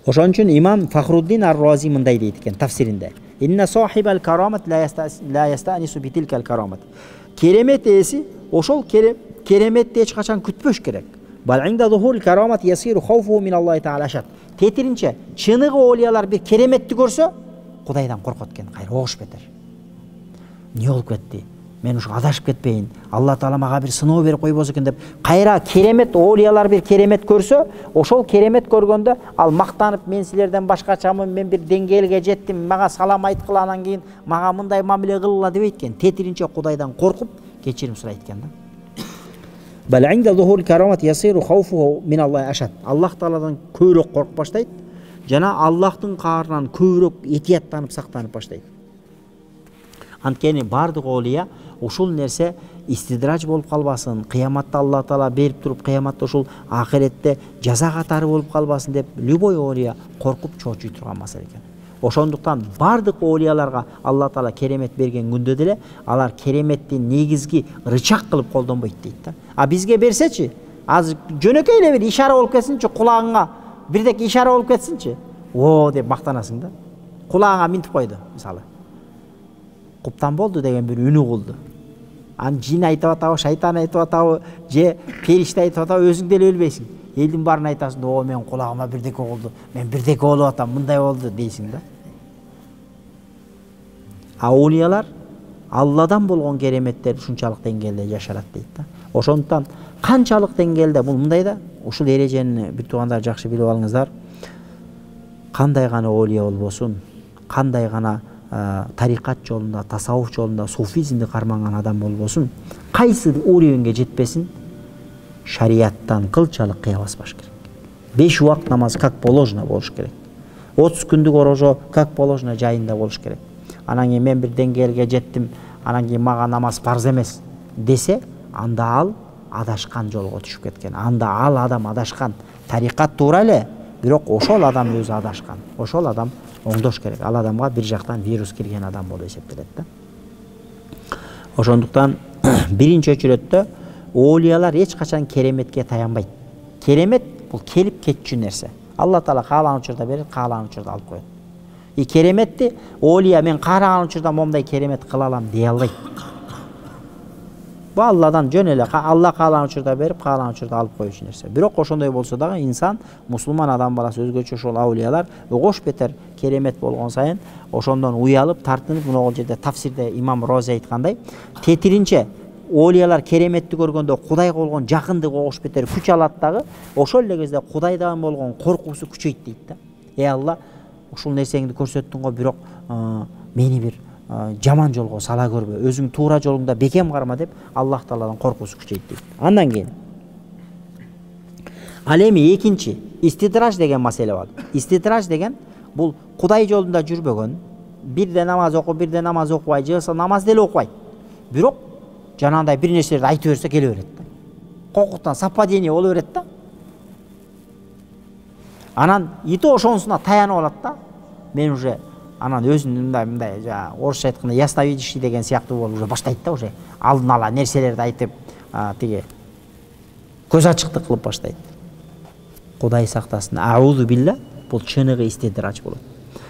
Ошон үчүн имам Фахруддин ар-Рази мындай дейт экен тафсиринде. Инна сахибал карамат ла ястанису битилкал карамат. Керемет ээси ошол кереметти эч качан күтпөш керек. Бал инда зухурил карамат ясиру хауфу мин Аллахи таала ашат. Тетиринче чыныгы олиялар бир кереметти көрсө Кудайдан коркот экен, кайра огуш бетер. Не болуп кетти? Мен ушу адашып кетпейин. Алла таала мага бир сыноо берип койбосо экен деп кайра керемет олиялар бир керемет көрсө, ошол керемет көргөндө ал мактанып мен силерден башкачамын, мен бир деңгээлге жеттим, мага салам айткыла, анан кийин мага мындай мамиле кылгыла дебейт экен. Тетиринче Кудайдан коркуп кечирим сурайт экен да. Бал инда зухурил карамат ясиру хауфу мин Аллахи ашат. Аллах тааладан көбүрөөк коркуп баштайт жана Аллахтын каарынан көбүрөөк этияттанып сактанып баштайт. Анткени бардык олия ушул нерсе истидрач болуп калбасын, кыяматта Алла таала берип туруп, кыяматта ушул ахиретте жаза катары болуп калбасын деп любой олия коркуп чоочуй турган маселе экен. Ошондуктан бардык олияларга Алла таала керемет берген күндө деле алар кереметти негизги рычаг кылып колдонбойт дейт да. А бизге берсечи, азыр жөнөкөй эле бир ишара болуп кетсинчи, кулагыңа бирдеке ишара болуп кетсинчи, о деп мактанасың да. Кулагыңа минтип койду, мисалы. Куптан болду деген бир үнү кылды. Аны жин айтып атабы, шайтан айтып атабы, же периште айтып атабы, өзүң деле билбейсиң. Элдин баарын айтасың, о мен кулагыма бирдеке болду, мен бирдеке болуп атам, мындай болду дейсиң да. А олиялар Алладан болгон кереметтер ушунчалык деңгээлде жашарат дейт да. Ошондуктан канчалык деңгээлде бул мындай да, ушул эрежени бир туугандар жакшы билип алыңыздар. Кандай гана олия болбосун, кандай гана тарикат жолунда, тасаввуф жолунда, суфизмди карманган адам болбосун, кайсы уровеньге жетпесин, шарияттан кылчалык кыя баспаш керек. 5 убакыт намаз как положено болуш керек. 30 күндүк орожо как положено жайында болуш керек. Анан кийин мен бир деңгээлге жеттим, анан кийин мага намаз парз эмес десе, анда ал адашкан жолго түшүп кеткен. Анда ал адам адашкан. Тарикат туура эле, бирок ошол адам өзү адашкан. Ошол адам оңдош керек. Ал адамга бир жактан вирус кирген адам болуп эсептелет да. Ошондуктан биринчи очередде олиялар эч качан кереметке таянбайт. Керемет бул келип кетчү нерсе. Алла таала каалаган учурда берет, каалаган учурда алып коет. И кереметти олия мен каалаган учурда момундай керемет кыла алам дей албайт. Бул Алладан жөн эле Алла каалаган учурда берип, каалаган учурда алып коюучу нерсе. Бирок ошондой болсо дагы инсан, мусулман адам баласы өзгөчө ошол аулиялар огош бетер керемет болгон сайын ошондон уялып, тартынып, мына жерде тафсирде имам Рози айткандай, тетиринче олиялар кереметти көргөндө Кудайга болгон жакындыгы огош бетер күч алат дагы, ошол эле кезде Кудайдан болгон коркуусу күчөйт дейт да. Алла, ушул нерсеңди көрсөттүң го, бирок мени бир жаман жолго сала көрбө, өзүң туура жолуңда бекем карма деп Аллах тааладан коркуусу күчөйт дейт. Андан кийин ал эми экинчи истидраж деген маселе бар. Истидраж деген бул Кудай жолунда жүрбөгөн, бирде намаз окуп, бирде намаз окубай, жыгылса намаз деле окубайт. Бирок жанагындай бир нерселерди айтып берсе келе берет да. Кокуктан совпадение боло берет да. Анан ити ошонусуна таянып алат да. Мен уже анан өзүн мындай орусча айтканда ясновидящий деген сыяктуу болуп уже баштайт да, уже алдын ала нерселерди айтып, тиги көз ачыктык кылып баштайт. Кудай сактасын. Аузу билла, бул чыныгы истидрач болот.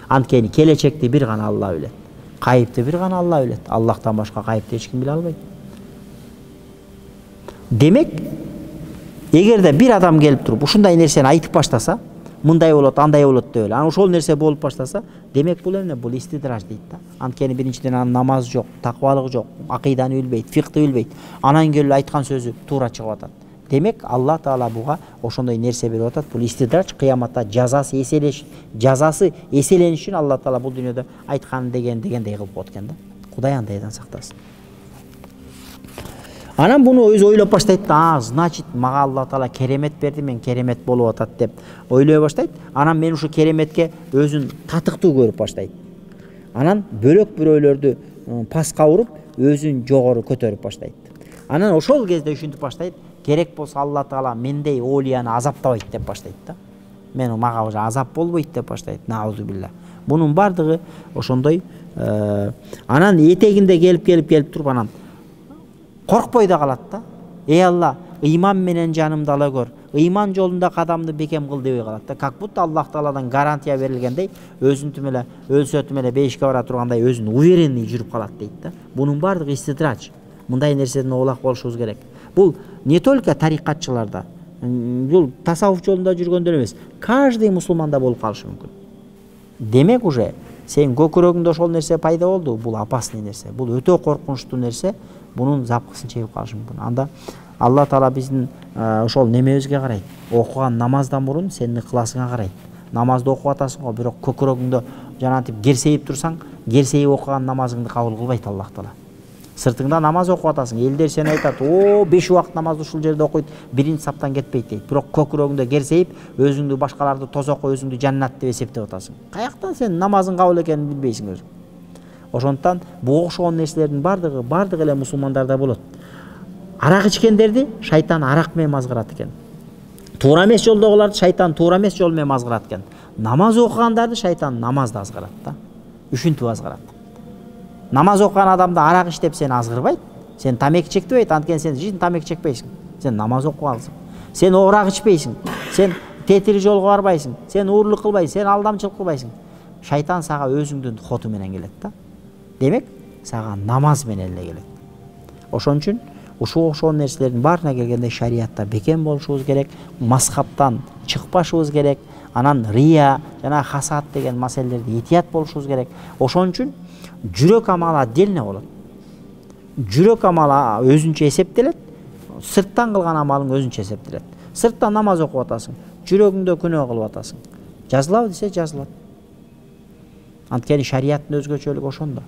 Анткени келечекти бир гана Алла билет. Кайыпты бир гана Алла билет. Аллахтан башка кайыпты эч ким биле албайт. Демек, эгерде бир адам келип туруп ушундай нерсени айтып баштаса, мындай болот, андай болот деп эле, анан ошол нерсе болуп баштаса, демек бул эмне? Бул истидраж дейт да. Анткени биринчиден анын намаз жок, таквалык жок, акыйданы билбейт, фикты билбейт. Анан келип айткан сөзү туура чыгып атат. Демек, Алла таала буга ошондой нерсе берип атат. Бул истидрач, кыяматта жазасы эселениш үчүн Алла таала бул дүйнөдө айткан дегендей кылып коет экен да. Кудай андайдан сактасын. Анан буну өзү ойлоп баштайт да, значит, мага Алла таала керемет берди, мен керемет болуп атат деп ойлой баштайт. Анан мен ушу кереметке өзүн татыктуу көрүп баштайт. Анан бөлөк бирөөлөрдү паска уруп, өзүн жогору көтөрүп баштайт. Анан ошол кезде ушинтип баштайт, керек болсо Алла таала мендей олияны азаптабайт деп баштайт да. Мага уже азап болбойт деп баштайт. Наузу билла. Бунун бардыгы ошондой. Анан этегинде келип туруп анан коркпой да калат да. Алла, ыйман менен жанымды ала көр, ыйман жолунда кадамды бекем кыл дебей калат да. Как будто Аллах Тааладан гарантия берилгендей, өзүнтүм эле өлсөтүм эле бейишке бара тургандай өзүн уверенный жүрүп калат дейт да. Бунун баардыгы истидрач. Мындай нерседен оолак болушубуз керек. Бул не только тарикатчыларда, бул тасаввуф жолунда жүргөндөр эмес, каждый мусулманда болуп калышы мүмкүн. Демек уже сен көкүрөгүңдө ошол нерсе пайда болду, бул опасный нерсе, бул өтө коркунучтуу нерсе, бунун запкысын чегип калышы мүмкүн. Анда Алла Таала биздин ошол немебизге карайт. Окуган намаздан мурун сенин ыкыласыңа карайт. Намазды окуп атасың го, бирок көкүрөгүңдө жанатип герсейип турсаң, герсейип окуган намазыңды кабыл кылбайт Аллах Таала. Сыртыңда намаз окуп атасың, элдер сени айтат, "О, 5 убакыт намазды ушул жерде окуйт, биринчи саптан кетпейт" дейт. Бирок көкүрөгүңдө герсейип, өзүңдү башкаларды тозокко, өзүңдү жаннат деп эсептеп атасың. Каяктан сен намазың кабыл экенин билбейсиң өзүң. Ошондуктан буга окшогон нерселердин бардыгы эле мусулмандарда болот. Арак ичкендерди шайтан арак менен мазгырат экен. Туура эмес жолдогуларды шайтан туура эмес жол менен мазгырат экен. Намаз окугандарды шайтан намазды азгырат да. Үшүнтүп азгырат. Намаз окуган адамды арак иштеп сени азгырбайт. Сен тамеки чектебейт, анткени сен жизнь тамеки чекпейсиң. Сен намаз окугансың. Сен оорак ичпейсиң. Сен тетири жолго барбайсың. Сен уурлук кылбайсың, сен алдамчылык кылбайсың. Шайтан сага өзүңдүн хоту менен келет да. Демек, сага намаз менен эле келет. Ошон үчүн ушул окшогон нерселердин баарына келгенде шариатта бекем болушубуз керек, мазхабтан чыкпашыбыз керек, анан рия жана хасад деген маселелерди этият болушубуз керек. Ошон үчүн жүрөк амалы отдельно болот. Жүрөк амалы өзүнчө эсептелет, сырттан кылган амалың өзүнчө эсептелет. Сырттан намаз окуп атасың, жүрөгүңдө күнөө кылып атасың. Жазылабы десе жазылат. Анткени шариаттын өзгөчөлүгү ошондо.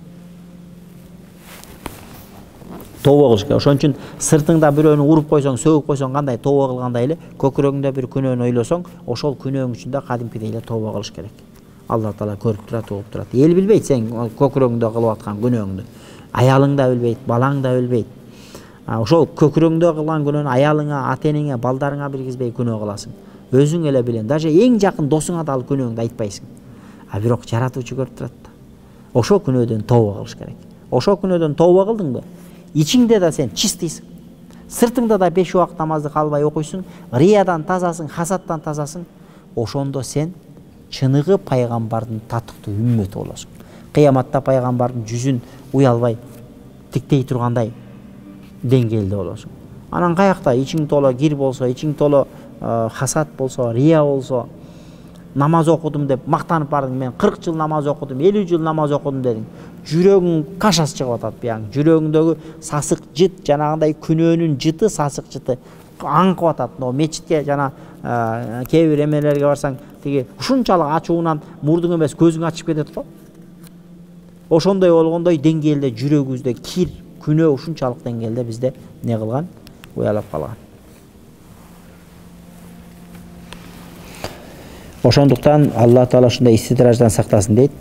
Тооба кылыш керек. Ошон үчүн сыртыңда бирөөнү уруп койсоң, сөгүп койсоң кандай тооба кылгандай эле, көкүрөгүңдө бир күнөөнү ойлосоң, ошол күнөөң үчүн да кадимкидей эле тооба кылыш керек. Алла Таала көрүп турат, угуп турат. Эл билбейт сен көкүрөгүңдө кылып аткан күнөөңдү. Аялың да билбейт, балаң да билбейт. Ошол көкүрөгүңдө кылган күнөөнү аялыңа, ата-энеңе, балдарыңа билгизбей күнөө кыласың. Өзүң эле билен, даже эң жакын досуңа да ал күнөөңдү айтпайсың. Бирок жаратуучу көрүп турат да. Ошол күнөөдөн тооба кылыш керек. Ошол күнөөдөн тооба кылдыңбы? Ичиңде да сен чистыйсың. Сыртыңда да 5 убакыт намазды калбай окуйсуң, риядан тазасың, хасаттан тазасың. Ошондо сен чыныгы пайгамбардын татыктуу үммөтү болосуң. Кыяматта пайгамбардын жүзүн уялбай тиктей тургандай деңгээлде болосуң. Анан каякта ичиң толо кир болсо, ичиң толо хасат болсо, рия болсо, намаз окудум деп мактанып бардың, мен 40 жыл намаз окудум, 50 жыл намаз окудум дедің. Жүрөгүң кашасы чыгып атат бияң. Жүрөгүңдөгү сасык жыт, жанагындай күнөөнүн жыты, сасык жыты аңкып атат. Но мечитке жана кээ бир эмелерге барсаң, тиги ушунчалык ачууынан мурдуң эмес көзүң ачып кетет го. Ошондой болгондой деңгээлде жүрөгүбүздө кир, күнөө ушунчалык деңгээлде бизде не кылган? Уялап калган. Ошондуктан Алла Таала ушундай истидраждан сактасын дейт.